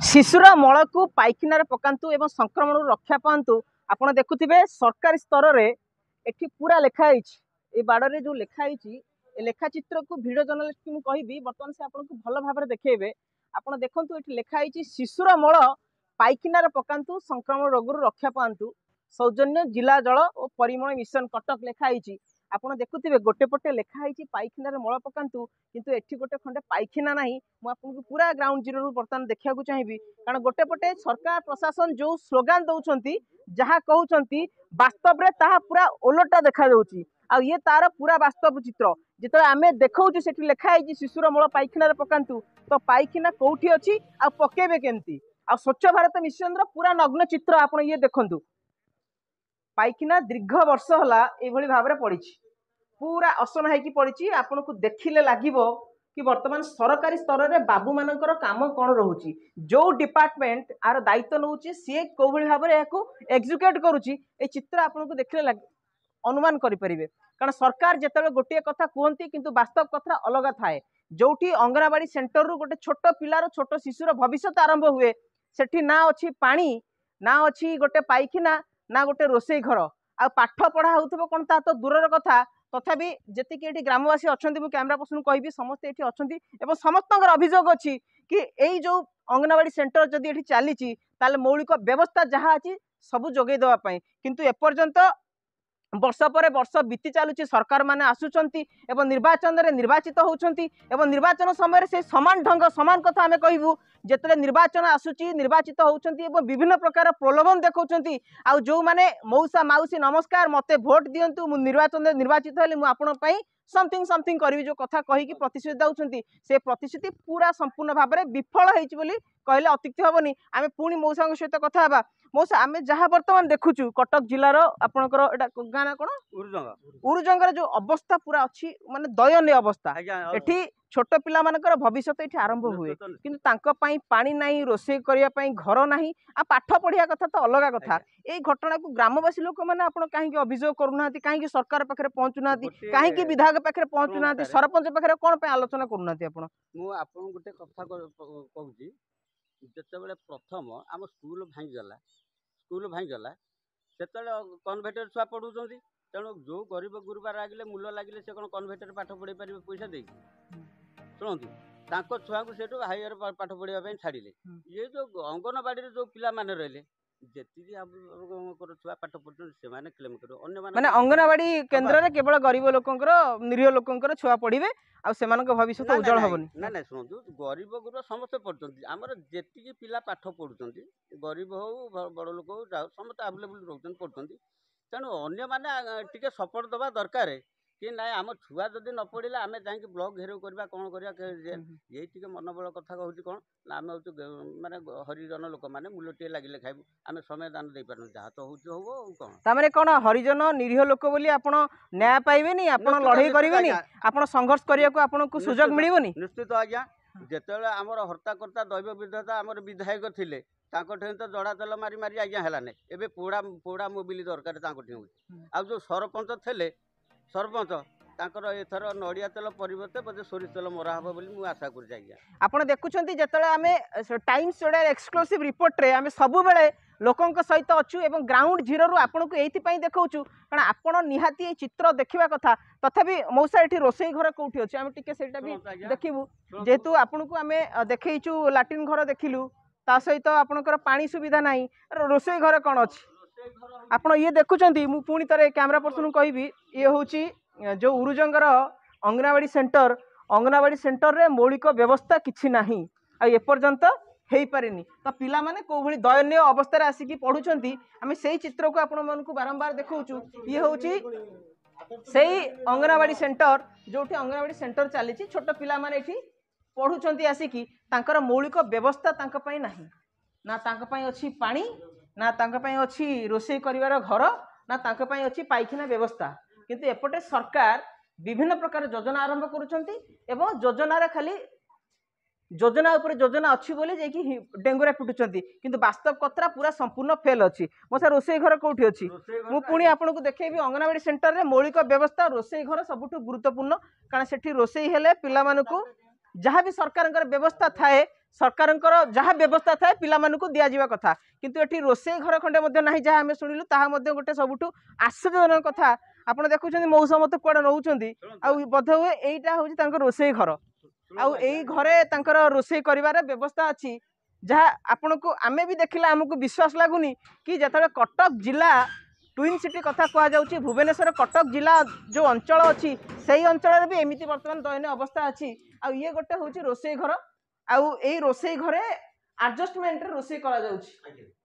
ଶିଶୁର ମଳକୁ ପାଇଖାନାରେ ପକାନ୍ତୁ ଏବଂ ସଂକ୍ରମଣରୁ ରକ୍ଷା ପାଆନ୍ତୁ। ଆପଣ ଦେଖୁଥିବେ, ସରକାରୀ ସ୍ତରରେ ଏଠି ପୁରା ଲେଖା ହେଇଛି। ଏଇ ବାଡ଼ରେ ଯୋଉ ଲେଖା ହେଇଛି, ଏ ଲେଖା ଚିତ୍ରକୁ ଭିଡ଼ିଓ ଜର୍ଣ୍ଣାଲିଷ୍ଟକୁ ମୁଁ କହିବି, ବର୍ତ୍ତମାନ ସେ ଆପଣଙ୍କୁ ଭଲ ଭାବରେ ଦେଖେଇବେ। ଆପଣ ଦେଖନ୍ତୁ, ଏଠି ଲେଖା ହେଇଛି, ଶିଶୁର ମଳ ପାଇଖାନାରେ ପକାନ୍ତୁ, ସଂକ୍ରମଣ ରୋଗରୁ ରକ୍ଷା ପାଆନ୍ତୁ, ସୌଜନ୍ୟ ଜିଲ୍ଲା ଜଳ ଓ ପରିମଳ ମିଶନ, କଟକ ଲେଖା ହେଇଛି। ଆପଣ ଦେଖୁଥିବେ, ଗୋଟେ ପଟେ ଲେଖା ହେଇଛି ପାଇଖାନାରେ ମଳ ପକାନ୍ତୁ, କିନ୍ତୁ ଏଠି ଗୋଟେ ଖଣ୍ଡେ ପାଇଖାନା ନାହିଁ। ମୁଁ ଆପଣଙ୍କୁ ପୁରା ଗ୍ରାଉଣ୍ଡ ଜିରୋରୁ ବର୍ତ୍ତମାନ ଦେଖିବାକୁ ଚାହିଁବି, କାରଣ ଗୋଟେ ପଟେ ସରକାର ପ୍ରଶାସନ ଯୋଉ ସ୍ଲୋଗାନ ଦଉଛନ୍ତି, ଯାହା କହୁଛନ୍ତି, ବାସ୍ତବରେ ତାହା ପୁରା ଓଲଟା ଦେଖାଯାଉଛି। ଆଉ ଇଏ ତାର ପୁରା ବାସ୍ତବ ଚିତ୍ର। ଯେତେବେଳେ ଆମେ ଦେଖାଉଛୁ, ସେଠି ଲେଖା ହେଇଛି ଶିଶୁର ମଳ ପାଇଖାନାରେ ପକାନ୍ତୁ, ତ ପାଇଖାନା କୋଉଠି ଅଛି ଆଉ ପକେଇବେ କେମିତି? ଆଉ ସ୍ୱଚ୍ଛ ଭାରତ ମିଶନର ପୁରା ନଗ୍ନ ଚିତ୍ର ଆପଣ ଇଏ ଦେଖନ୍ତୁ। ପାଇଖାନା ଦୀର୍ଘ ବର୍ଷ ହେଲା ଏଇଭଳି ଭାବରେ ପଡ଼ିଛି, ପୁରା ଅସନା ହେଇକି ପଡ଼ିଛି। ଆପଣଙ୍କୁ ଦେଖିଲେ ଲାଗିବ କି ବର୍ତ୍ତମାନ ସରକାରୀ ସ୍ତରରେ ବାବୁମାନଙ୍କର କାମ କ'ଣ ରହୁଛି। ଯୋଉ ଡିପାର୍ଟମେଣ୍ଟ ଆର ଦାୟିତ୍ୱ ନେଉଛି, ସିଏ କୋଉଭଳି ଭାବରେ ଏହାକୁ ଏକ୍ଜିକ୍ୟୁଟ୍ କରୁଛି, ଏଇ ଚିତ୍ର ଆପଣଙ୍କୁ ଦେଖିଲେ ଅନୁମାନ କରିପାରିବେ। କାରଣ ସରକାର ଯେତେବେଳେ ଗୋଟିଏ କଥା କୁହନ୍ତି, କିନ୍ତୁ ବାସ୍ତବ କଥା ଅଲଗା ଥାଏ। ଯୋଉଠି ଅଙ୍ଗନବାଡି ସେଣ୍ଟରରୁ ଗୋଟେ ଛୋଟ ପିଲାର, ଛୋଟ ଶିଶୁର ଭବିଷ୍ୟତ ଆରମ୍ଭ ହୁଏ, ସେଠି ନା ଅଛି ପାଣି, ନା ଅଛି ଗୋଟେ ପାଇଖାନା, ନା ଗୋଟେ ରୋଷେଇ ଘର। ଆଉ ପାଠ ପଢା ହଉଥିବ କ'ଣ, ତା ତ ଦୂରର କଥା। ତଥାପି ଯେତିକି ଏଠି ଗ୍ରାମବାସୀ ଅଛନ୍ତି, ମୁଁ କ୍ୟାମେରା ପର୍ସନକୁ କହିବି, ସମସ୍ତେ ଏଠି ଅଛନ୍ତି ଏବଂ ସମସ୍ତଙ୍କର ଅଭିଯୋଗ ଅଛି କି ଏଇ ଯୋଉ ଅଙ୍ଗନବାଡି ସେଣ୍ଟର ଯଦି ଏଠି ଚାଲିଛି, ତାହେଲେ ମୌଳିକ ବ୍ୟବସ୍ଥା ଯାହା ଅଛି ସବୁ ଯୋଗେଇ ଦେବା ପାଇଁ। କିନ୍ତୁ ଏପର୍ଯ୍ୟନ୍ତ ବର୍ଷ ପରେ ବର୍ଷ ବିତି ଚାଲୁଛି, ସରକାର ମାନେ ଆସୁଛନ୍ତି ଏବଂ ନିର୍ବାଚନରେ ନିର୍ବାଚିତ ହେଉଛନ୍ତି ଏବଂ ନିର୍ବାଚନ ସମୟରେ ସେ ସମାନ ଢଙ୍ଗ, ସମାନ କଥା ଆମେ କହିବୁ। ଯେତେବେଳେ ନିର୍ବାଚନ ଆସୁଛି, ନିର୍ବାଚିତ ହେଉଛନ୍ତି ଏବଂ ବିଭିନ୍ନ ପ୍ରକାର ପ୍ରଲୋଭନ ଦେଖାଉଛନ୍ତି। ଆଉ ଯେଉଁମାନେ ମଉସା ମାଉସୀ ନମସ୍କାର, ମୋତେ ଭୋଟ ଦିଅନ୍ତୁ, ମୁଁ ନିର୍ବାଚନରେ ନିର୍ବାଚିତ ହେଲେ ମୁଁ ଆପଣଙ୍କ ପାଇଁ ସମଥିଙ୍ଗ ସମଥିଙ୍ଗ କରିବି, ଯେଉଁ କଥା କହିକି ପ୍ରତିଶ୍ରୁତି ଦେଉଛନ୍ତି, ସେ ପ୍ରତିଶ୍ରୁତି ପୁରା ସମ୍ପୂର୍ଣ୍ଣ ଭାବରେ ବିଫଳ ହେଇଛି ବୋଲି କହିଲେ ଅତ୍ୟୁକ୍ତି ହେବନି। ଆମେ ପୁଣି ମଉସାଙ୍କ ସହିତ କଥା ହେବା। ମଉସା, ଆମେ ଯାହା ବର୍ତ୍ତମାନ ଦେଖୁଛୁ, କଟକ ଜିଲ୍ଲାର ଆପଣଙ୍କର ଏଇଟା ଗାଁ ନା କ'ଣ? ଉରୁଜଙ୍ଗ। ଉରୁଜଙ୍ଗର ଯୋଉ ଅବସ୍ଥା ପୁରା ଅଛି, ମାନେ ଦୟନୀୟ ଅବସ୍ଥା। ଏଠି ଛୋଟ ପିଲାମାନଙ୍କର ଭବିଷ୍ୟତ ଏଠି ଆରମ୍ଭ ହୁଏ, କିନ୍ତୁ ତାଙ୍କ ପାଇଁ ପାଣି ନାହିଁ, ରୋଷେଇ କରିବା ପାଇଁ ଘର ନାହିଁ, ଆଉ ପାଠ ପଢିବା କଥା ତ ଅଲଗା କଥା। ଏଇ ଘଟଣାକୁ ଗ୍ରାମବାସୀ ଲୋକମାନେ ଆପଣ କାହିଁକି ଅଭିଯୋଗ କରୁନାହାନ୍ତି? କାହିଁକି ସରକାର ପାଖରେ ପହଞ୍ଚୁନାହାନ୍ତି? କାହିଁକି ବିଧାୟକ ପାଖରେ ପହଞ୍ଚୁନାହାନ୍ତି? ସରପଞ୍ଚ ପାଖରେ କ'ଣ ପାଇଁ ଆଲୋଚନା କରୁନାହାନ୍ତି ଆପଣ? ମୁଁ ଆପଣଙ୍କୁ ଗୋଟେ କଥା କହୁଛି। ଯେତେବେଳେ ପ୍ରଥମ ଆମ ସ୍କୁଲ ଭାଙ୍ଗିଗଲା, ସ୍କୁଲ ଭାଙ୍ଗିଗଲା, ସେତେବେଳେ କନଭେଣ୍ଟରେ ଛୁଆ ପଢ଼ୁଛନ୍ତି। ତେଣୁ ଯେଉଁ ଗରିବ ଗୁରୁବାର ଲାଗିଲେ, ମୂଲ ଲାଗିଲେ, ସେ କ'ଣ କନଭେଣ୍ଟରେ ପାଠ ପଢ଼େଇ ପାରିବେ ପଇସା ଦେଇକି? ଶୁଣନ୍ତୁ, ତାଙ୍କ ଛୁଆଙ୍କୁ ସେଠୁ ହାଇୟର ପାଠ ପଢ଼ିବା ପାଇଁ ଛାଡ଼ିଲେ। ଇଏ ଯେଉଁ ଅଙ୍ଗନବାଡ଼ିରେ ଯେଉଁ ପିଲାମାନେ ରହିଲେ, ଯେତିକି ଆପଣଙ୍କର ଛୁଆ ପାଠ ପଢୁଛନ୍ତି, ସେମାନେ କ୍ଲେମ୍ କରିବେ, ଅନ୍ୟମାନେ ମାନେ ଅଙ୍ଗନବାଡି କେନ୍ଦ୍ରରେ କେବଳ ଗରିବ ଲୋକଙ୍କର, ନିରୀହ ଲୋକଙ୍କର ଛୁଆ ପଢିବେ ଆଉ ସେମାନଙ୍କ ଭବିଷ୍ୟତ ଉଜ୍ଜଳ ହବନି? ନାଇଁ ନାଇଁ, ଶୁଣନ୍ତୁ, ଗରିବ ଗୁରୁବା ସମସ୍ତେ ପଢୁଛନ୍ତି। ଆମର ଯେତିକି ପିଲା ପାଠ ପଢୁଛନ୍ତି, ଗରିବ ହଉ, ବଡ଼ ଲୋକ ହଉ, ଯାଉ, ସମସ୍ତେ ଆଭେଲେବୁଲ୍ ରହୁଛନ୍ତି, ପଢୁଛନ୍ତି। ତେଣୁ ଅନ୍ୟମାନେ ଟିକେ ସପୋର୍ଟ ଦେବା ଦରକାର କି ନାଇଁ? ଆମ ଛୁଆ ଯଦି ନ ପଢ଼ିଲେ ଆମେ ଯାଇକି ବ୍ଲକ୍ ଘେରାଉ କରିବା, କ'ଣ କରିବା। ଏଇ ଟିକେ ମନୋବଳ କଥା କହୁଛି। କ'ଣ ନା ଆମେ ହେଉଛୁ ମାନେ ହରିଜନ ଲୋକମାନେ, ମୂଲଟିଏ ଲାଗିଲେ ଖାଇବୁ, ଆମେ ସମୟ ଦାନ ଦେଇପାରୁନୁ। ଯାହା ତ ହେଉଛି ହବ, ଆଉ କ'ଣ। ତାମାନେ କ'ଣ, ହରିଜନ ନିରୀହ ଲୋକ ବୋଲି ଆପଣ ନ୍ୟାୟ ପାଇବେନି? ଆପଣ ଲଢ଼େଇ କରିବେନି? ଆପଣ ସଂଘର୍ଷ କରିବାକୁ ଆପଣଙ୍କୁ ସୁଯୋଗ ମିଳିବନି? ନିଶ୍ଚିତ ଆଜ୍ଞା। ଯେତେବେଳେ ଆମର ହର୍ତ୍ତାକର୍ତ୍ତା ଦୈବ ବିଧାତା ଆମର ବିଧାୟକ ଥିଲେ, ତାଙ୍କଠେଇଁ ତ ଜଡ଼ା ତେଲ ମାରି ମାରି ଆଜ୍ଞା ହେଲାନି। ଏବେ ପୋଡ଼ା ପୋଡ଼ା ମୋବିଲି ଦରକାର ତାଙ୍କଠି ହେଉଛି। ଆଉ ଯେଉଁ ସରପଞ୍ଚ ଥିଲେ, ସରପଞ୍ଚ ତାଙ୍କର ଏଥର ନଡ଼ିଆ ତେଲ ପରିବର୍ତ୍ତେ ବୋଧେ ସୋରିଷ ତେଲ ମରା ହେବ ବୋଲି ମୁଁ ଆଶା କରୁଛି ଆଜ୍ଞା। ଆପଣ ଦେଖୁଛନ୍ତି, ଯେତେବେଳେ ଆମେ ଟାଇମ୍ସ ଓଡ଼ିଆର ଏକ୍ସକ୍ଲୁସିଭ୍ ରିପୋର୍ଟରେ ଆମେ ସବୁବେଳେ ଲୋକଙ୍କ ସହିତ ଅଛୁ ଏବଂ ଗ୍ରାଉଣ୍ଡ ଜିରୋରୁ ଆପଣଙ୍କୁ ଏଇଥିପାଇଁ ଦେଖାଉଛୁ, କାରଣ ଆପଣ ନିହାତି ଏଇ ଚିତ୍ର ଦେଖିବା କଥା। ତଥାପି ମଉସା, ଏଠି ରୋଷେଇ ଘର କୋଉଠି ଅଛି? ଆମେ ଟିକେ ସେଇଟା ବି ଦେଖିବୁ। ଯେହେତୁ ଆପଣଙ୍କୁ ଆମେ ଦେଖେଇଛୁ, ଲାଟ୍ରିନ୍ ଘର ଦେଖିଲୁ, ତା ସହିତ ଆପଣଙ୍କର ପାଣି ସୁବିଧା ନାହିଁ, ରୋଷେଇ ଘର କ'ଣ ଅଛି? ଆପଣ ଇଏ ଦେଖୁଛନ୍ତି। ମୁଁ ପୁଣି ଥରେ କ୍ୟାମେରା ପର୍ସନକୁ କହିବି, ଇଏ ହେଉଛି ଯେଉଁ ଉରୁଜଙ୍ଗର ଅଙ୍ଗନବାଡ଼ି ସେଣ୍ଟର। ଅଙ୍ଗନବାଡ଼ି ସେଣ୍ଟରରେ ମୌଳିକ ବ୍ୟବସ୍ଥା କିଛି ନାହିଁ ଆଉ ଏପର୍ଯ୍ୟନ୍ତ ହେଇପାରିନି। ତ ପିଲାମାନେ କେଉଁଭଳି ଦୟନୀୟ ଅବସ୍ଥାରେ ଆସିକି ପଢ଼ୁଛନ୍ତି, ଆମେ ସେଇ ଚିତ୍ରକୁ ଆପଣମାନଙ୍କୁ ବାରମ୍ବାର ଦେଖାଉଛୁ। ଇଏ ହେଉଛି ସେଇ ଅଙ୍ଗନବାଡ଼ି ସେଣ୍ଟର, ଯେଉଁଠି ଅଙ୍ଗନବାଡ଼ି ସେଣ୍ଟର ଚାଲିଛି, ଛୋଟ ପିଲାମାନେ ଏଠି ପଢ଼ୁଛନ୍ତି ଆସିକି। ତାଙ୍କର ମୌଳିକ ବ୍ୟବସ୍ଥା ତାଙ୍କ ପାଇଁ ନାହିଁ। ନା ତାଙ୍କ ପାଇଁ ଅଛି ପାଣି, ନା ତାଙ୍କ ପାଇଁ ଅଛି ରୋଷେଇ କରିବାର ଘର, ନା ତାଙ୍କ ପାଇଁ ଅଛି ପାଇଖାନା ବ୍ୟବସ୍ଥା। କିନ୍ତୁ ଏପଟେ ସରକାର ବିଭିନ୍ନ ପ୍ରକାର ଯୋଜନା ଆରମ୍ଭ କରୁଛନ୍ତି ଏବଂ ଯୋଜନାରେ ଖାଲି ଯୋଜନା ଉପରେ ଯୋଜନା ଅଛି ବୋଲି ଯାଇକି ଡେଙ୍ଗୁରା ପିଟୁଛନ୍ତି, କିନ୍ତୁ ବାସ୍ତବ କଥା ପୁରା ସମ୍ପୂର୍ଣ୍ଣ ଫେଲ୍ ଅଛି। ମୋ ସାର୍, ରୋଷେଇ ଘର କୋଉଠି ଅଛି? ମୁଁ ପୁଣି ଆପଣଙ୍କୁ ଦେଖେଇବି। ଅଙ୍ଗନବାଡ଼ି ସେଣ୍ଟରରେ ମୌଳିକ ବ୍ୟବସ୍ଥା ରୋଷେଇ ଘର ସବୁଠୁ ଗୁରୁତ୍ୱପୂର୍ଣ୍ଣ, କାରଣ ସେଠି ରୋଷେଇ ହେଲେ ପିଲାମାନଙ୍କୁ ଯାହା ବି ସରକାରଙ୍କର ବ୍ୟବସ୍ଥା ଥାଏ, ସରକାରଙ୍କର ଯାହା ବ୍ୟବସ୍ଥା ଥାଏ ପିଲାମାନଙ୍କୁ ଦିଆଯିବା କଥା, କିନ୍ତୁ ଏଠି ରୋଷେଇ ଘର ଖଣ୍ଡେ ମଧ୍ୟ ନାହିଁ, ଯାହା ଆମେ ଶୁଣିଲୁ ତାହା ମଧ୍ୟ ଗୋଟେ ସବୁଠୁ ଆଶ୍ଚର୍ଯ୍ୟଜନକ କଥା। ଆପଣ ଦେଖୁଛନ୍ତି ମଉସା ମୋତେ କୁଆଡ଼େ ନେଉଛନ୍ତି, ଆଉ ବୋଧ ହୁଏ ଏଇଟା ହେଉଛି ତାଙ୍କ ରୋଷେଇ ଘର, ଆଉ ଏଇ ଘରେ ତାଙ୍କର ରୋଷେଇ କରିବାର ବ୍ୟବସ୍ଥା ଅଛି, ଯାହା ଆପଣଙ୍କୁ ଆମେ ବି ଦେଖିଲେ ଆମକୁ ବିଶ୍ୱାସ ଲାଗୁନି କି ଯେତେବେଳେ କଟକ ଜିଲ୍ଲା ଟ୍ୱିନ୍ ସିଟି କଥା କୁହାଯାଉଛି, ଭୁବନେଶ୍ୱର କଟକ ଜିଲ୍ଲା ଯେଉଁ ଅଞ୍ଚଳ ଅଛି ସେଇ ଅଞ୍ଚଳରେ ବି ଏମିତି ବର୍ତ୍ତମାନ ଦୟନୀୟ ଅବସ୍ଥା ଅଛି। ଆଉ ଇଏ ଗୋଟେ ହେଉଛି ରୋଷେଇ ଘର, ଆଉ ଏଇ ରୋଷେଇ ଘରେ ଆଡଜଷ୍ଟମେଣ୍ଟରେ ରୋଷେଇ କରାଯାଉଛି,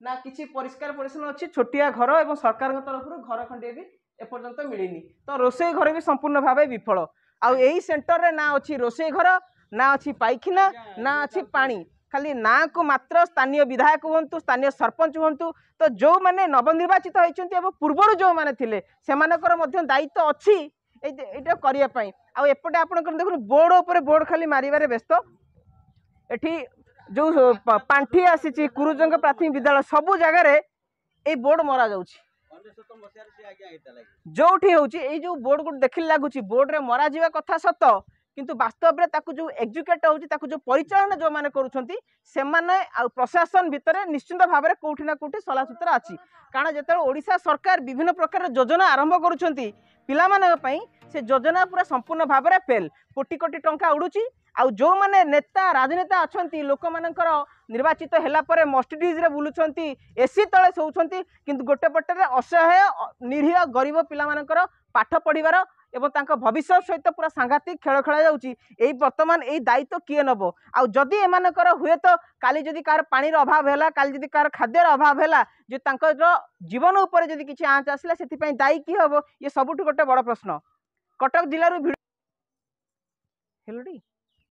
ନା କିଛି ପରିଷ୍କାର ପରିଚ୍ଛନ୍ନ ଅଛି, ଛୋଟିଆ ଘର, ଏବଂ ସରକାରଙ୍କ ତରଫରୁ ଘର ଖଣ୍ଡିଏ ବି ଏପର୍ଯ୍ୟନ୍ତ ମିଳିନି। ତ ରୋଷେଇ ଘର ବି ସମ୍ପୂର୍ଣ୍ଣ ଭାବେ ବିଫଳ। ଆଉ ଏଇ ସେଣ୍ଟରରେ ନା ଅଛି ରୋଷେଇ ଘର, ନା ଅଛି ପାଇଖାନା, ନା ଅଛି ପାଣି, ଖାଲି ନାଁକୁ ମାତ୍ର। ସ୍ଥାନୀୟ ବିଧାୟକ ହୁଅନ୍ତୁ, ସ୍ଥାନୀୟ ସରପଞ୍ଚ ହୁଅନ୍ତୁ, ତ ଯେଉଁମାନେ ନବନିର୍ବାଚିତ ହେଇଛନ୍ତି ଏବଂ ପୂର୍ବରୁ ଯେଉଁମାନେ ଥିଲେ, ସେମାନଙ୍କର ମଧ୍ୟ ଦାୟିତ୍ୱ ଅଛି ଏଇଟା କରିବା ପାଇଁ। ଆଉ ଏପଟେ ଆପଣଙ୍କର ଦେଖନ୍ତୁ ବୋର୍ଡ଼ ଉପରେ ବୋର୍ଡ଼ ଖାଲି ମାରିବାରେ ବ୍ୟସ୍ତ। ଏଠି ଯେଉଁ ପାଣ୍ଠି ଆସିଛି କୁରୁଜଙ୍ଗ ପ୍ରାଥମିକ ବିଦ୍ୟାଳୟ, ସବୁ ଜାଗାରେ ଏଇ ବୋର୍ଡ଼ ମରାଯାଉଛି। ଯୋଉଠି ହେଉଛି ଏଇ ଯେଉଁ ବୋର୍ଡ଼ ଗୋଟେ ଦେଖିଲେ ଲାଗୁଛି ବୋର୍ଡ଼ରେ ମରାଯିବା କଥା ସତ, କିନ୍ତୁ ବାସ୍ତବରେ ତାକୁ ଯେଉଁ ଏକ୍ଜିକ୍ୟୁଟ୍ ହେଉଛି, ତାକୁ ଯେଉଁ ପରିଚାଳନା ଯେଉଁମାନେ କରୁଛନ୍ତି ସେମାନେ ଆଉ ପ୍ରଶାସନ ଭିତରେ ନିଶ୍ଚିନ୍ତ ଭାବରେ କେଉଁଠି ନା କେଉଁଠି ସଲାସୁତରା ଅଛି। କାରଣ ଯେତେବେଳେ ଓଡ଼ିଶା ସରକାର ବିଭିନ୍ନ ପ୍ରକାର ଯୋଜନା ଆରମ୍ଭ କରୁଛନ୍ତି ପିଲାମାନଙ୍କ ପାଇଁ, ସେ ଯୋଜନା ପୁରା ସମ୍ପୂର୍ଣ୍ଣ ଭାବରେ ଫେଲ୍, କୋଟି କୋଟି ଟଙ୍କା ଉଡ଼ୁଛି। ଆଉ ଯେଉଁମାନେ ନେତା ରାଜନେତା ଅଛନ୍ତି, ଲୋକମାନଙ୍କର ନିର୍ବାଚିତ ହେଲା ପରେ ମର୍ସିଡିଜ୍ରେ ବୁଲୁଛନ୍ତି, ଏସି ତଳେ ଶୋଉଛନ୍ତି, କିନ୍ତୁ ଗୋଟେ ପଟରେ ଅସହାୟ ନିରୀହ ଗରିବ ପିଲାମାନଙ୍କର ପାଠ ପଢ଼ିବାର ଏବଂ ତାଙ୍କ ଭବିଷ୍ୟତ ସହିତ ପୁରା ସାଂଘାତିକ ଖେଳ ଖେଳାଯାଉଛି। ଏଇ ବର୍ତ୍ତମାନ ଏଇ ଦାୟିତ୍ୱ କିଏ ନେବ? ଆଉ ଯଦି ଏମାନଙ୍କର ହୁଏତ କାଲି ଯଦି କାହାର ପାଣିର ଅଭାବ ହେଲା, କାଲି ଯଦି କାହାର ଖାଦ୍ୟର ଅଭାବ ହେଲା, ଯେ ତାଙ୍କର ଜୀବନ ଉପରେ ଯଦି କିଛି ଆଞ୍ଚ ଆସିଲା, ସେଥିପାଇଁ ଦାୟୀ କିଏ ହେବ? ଇଏ ସବୁଠୁ ଗୋଟେ ବଡ଼ ପ୍ରଶ୍ନ। କଟକ ଜିଲ୍ଲାରୁ ଭିଡ଼ିଓ ହେଲଟି।